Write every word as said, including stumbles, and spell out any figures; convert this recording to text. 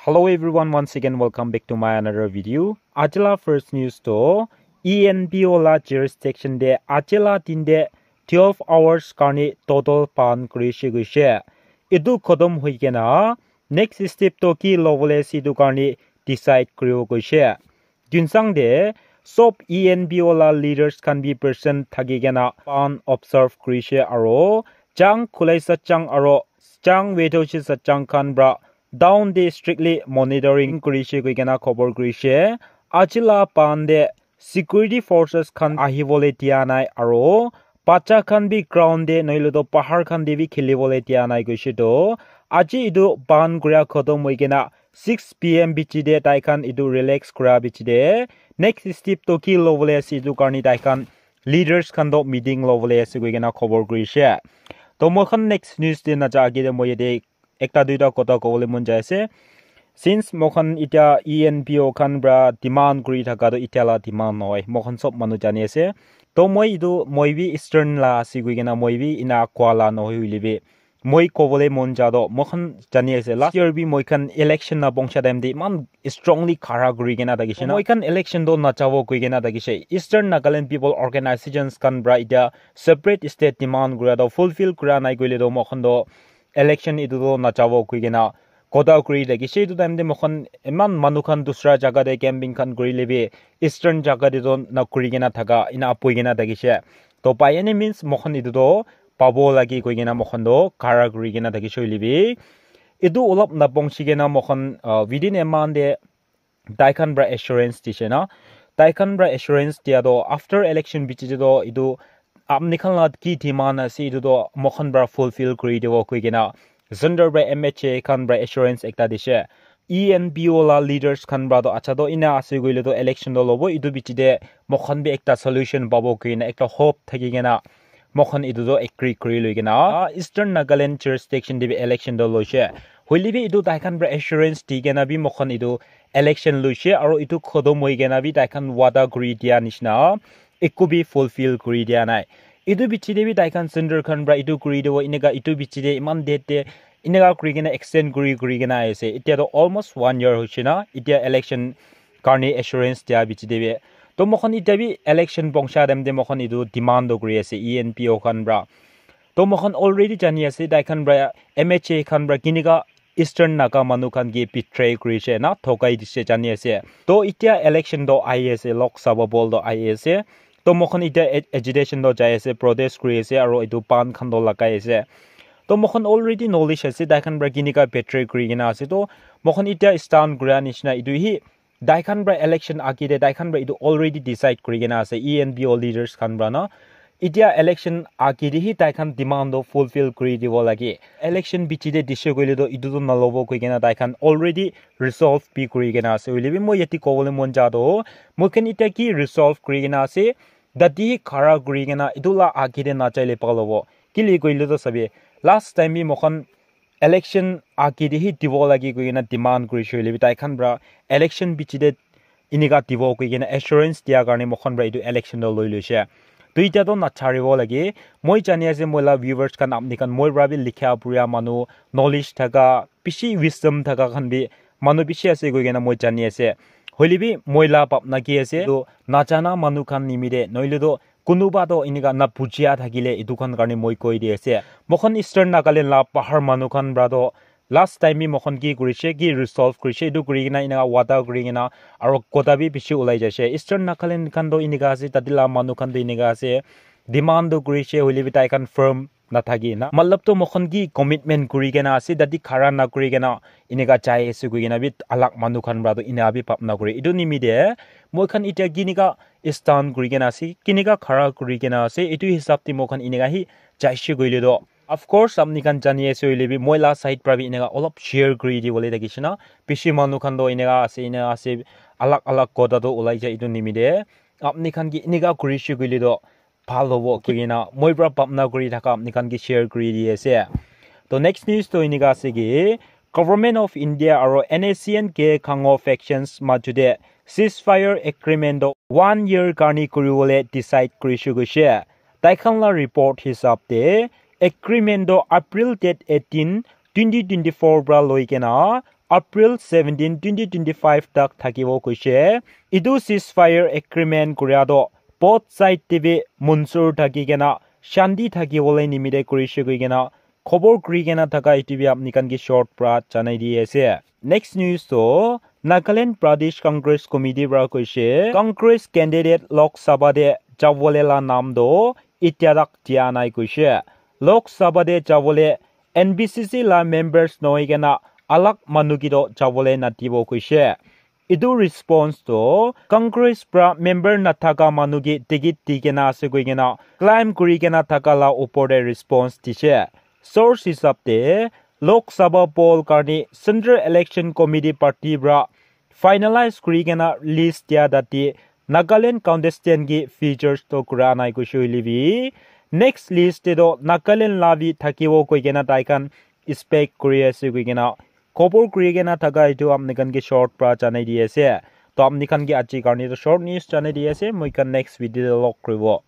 Hello everyone, once again welcome back to my another video. Ajila first news to E N P O la jurisdiction de ajila din de twelve hours karni total ban kurishe goishe. Etu khotom hoi kena next step to ki lobole ase etu karni decide kuribo goishe. Tuensang de sob E N P O la leaders khan bi present thaki kena ban observe kurishe aro Chang Khulai Sachang aro Chang Wedoshi Sachang khan pra down de strictly monitoring kurishe koi kena khobor kurishe. Ajila ban de security forces khan ahibole dia nai aro bacha khan bi ground de noile to pahar khan de bi khilibole dia nai koishe to aji etu ban kuria khotom hoi kena six P M bichi de tai khan etu relax kura bichi de next step to ki lobole ase etu karni tai khan leaders khan to meeting lobole ase koi kena khobor kurishe. To moi khan next news de naja age de moi yate ekta duita kotha kobole mon jai ase. Since moi khan itya E N P O khan pra demand kuri thaka to itya la demand nohoi, moi khan sob manu jani ase. To moi etu moi bi Eastern la ase koi kena moi bi ina koa la nohoi hoile bi moi kobole mon ja to moi khan jani ase last year bi moi khan election na bongsa time de iman strongly khara kuri kena thakishe na. Moi khan election to nachabo koi kena thakishe. Eastern Nagaland People Organizations khan pra itya separate state demand kura to fulfill kura nai koile to moi khan to election etu to nachabo koi kena kotha kuri thakishe. Etu time de moi khan iman manu khan dusra jaga de camping khan kuri lebi Eastern jaga de to na kuri kena thaka ina apoi kena thakishe. To by any means moi khan etu to pabo lagi koi kena moi khan to khara kuri kena thakishe hoile bi etu olop na bongsi kena moi khan, uh, within a month de tai khan pra assurance dishe na. Tai khan pra assurance dia to after election bichi de to etu apni khan la ki demand ase etu to moi khan pra fulfill kuri dibo koi kena center pra M H A khan pra assurance ekta dishe. E N P O la leaders khan pra to acha to ina ase koile to election to lobo etu bichi de moi khan bi ekta solution pabo koi kena ekta hope thaki kena moi khan etu to agree kuri loi kena Eastern Nagaland jurisdiction de bi election to loishe. Hoile bi etu tai khan pra assurance di kena bi moi khan etu election loishe aro etu khotom hoi kena bi tai khan wada kuri dia nishina eku bi fulfill kuri dia nai. Etu bichi de bi tai khan center khan pra etu kuri dibo eneka etu bichi de iman date de eneka kuri kena extend kuri kuri kena ahi ase. Itya to almost one year hoishe na itya election karni assurance dia bichi de bi. To moi khan itya bi election bongsa time de moi khan etu demand to kuri ase E N P O khan pra. To moi khan already jani ase tai khan pra M H A khan pra kinika Eastern Naga manu khan ke betray kurishe na thokai dishe jani ase. To itya election to ahi ase, Lok Sabha bol to ahi ase. To moi khan itya ag- agitation to jai ase, protest kuri ase aro etu ban khan to lagai ase. To moi khan already knowledge ase tai khan pra kinika betray kuri kena ase. To moi khan itya stand kura nishina etu hi tai khan pra election age de tai khan pra etu already decide kuri kena ase E N P O leaders khan pra na. Itya election age de hi tai khan demand to fulfill kuri dibo lage. Election bichi de dishe koile to etu to nalobo koi kena tai khan already resolve bi kuri kena ase. Hoile bi moi yate kobole mon ja to moi khan itya ki resolve kuri kena ase. Tate hi khara kuri kena etu la age de nachaile bhal hobo. Kile koile to sabi last time bi moi khan election age de hi dibo lagi koi kena demand kurishe hoile bi tai khan pra election bichi de inika dibo koi kena assurance dia karne moi khan pra etu election to loi loishe. To itya to nacharibo lage. Moi jani ase moi la viewers khan apni khan moi pra bi likha puria manu knowledge thaka bishi wisdom thaka khan bi manu bishi ase koi kena moi jani ase. Hoile bi moi la bhapna ki ase to najana manu khan nimite noile to kunuba to enika na bujia thakile etu khan karne moi koi di ase. Moi khan Eastern Nagaland la bahar manu khan pra to last time bi moi khan ki kurishe, ki resolve kurishe, etu kuri kena enika wada kuri kena aro kotha bi bishi ulai jaishe. Eastern Nagaland khan to enika ase, tate la manu khan to enika ase, demand to kurishe hoile bi tai khan firm nathaki na. Matlab to moi khan ki commitment kuri kena ase, tate khara na kuri kena enika jai ase koi kena bi alag manu khan pra to ena bi bhapna kure. Etu nimite moi khan itya kinika stand kuri kena ase, kinika khara kuri kena ase, etu hisab te moi khan enika hi jaise koile to. Of course, apni khan jani ase hoile bi moi la side pra bi enika olop share kuri dibole thakishe na. Bishi manu khan to enika ase, enika ase, alag alag kotha to ulai jai etu nimite. Apni khan ki enika kurishe koile to bhal hobo koi kena moi pra bhapna kuri thaka apni khan ke share kuri di ase. To next news to enika ase ki Government of India aro N S C N K Khango factions majute ceasefire agreement to one year karne kuribole decide kurishe koishe. Tai khan la report hisab te agreement to April date eighteen, twenty twenty-four pra loi kena April seventeen, twenty twenty-five tak thakibo koishe. Etu ceasefire agreement kuria toh both side te bi munsur thaki kena shanti thaki bole nimite kurishe koi kena khobor kuri kena thaka etu bi apni khan ke short pra janai di ase. Next news toh Nagaland Pradesh Congress Committee pra koishe Congress candidate Lok Sabha te jabole la nam toh itya tak dia nai koishe. Lok Sabha te jabole N B C C la members nohoi kena alag manu ki toh jabole nadibo koishe. Etu response toh Congress pra member nathaka manu ki ticket di kena ase koi kena claim kuri kena thaka la upor te response dishe. Source hisab te Lok Sabha poll karne Central Election Committee party pra finalize kuri kena list dia tate Nagaland contestant ki features toh kura nai koishe hoile bi next list te toh Nagaland la bi thakibo koi kena tai khan expect kuri ase koi kena khobor kuri kena thaka etu apni khan ke short pra janai di ase. To apni khan ke aji karne toh short news janai di ase, moi khan next video te log kuribo.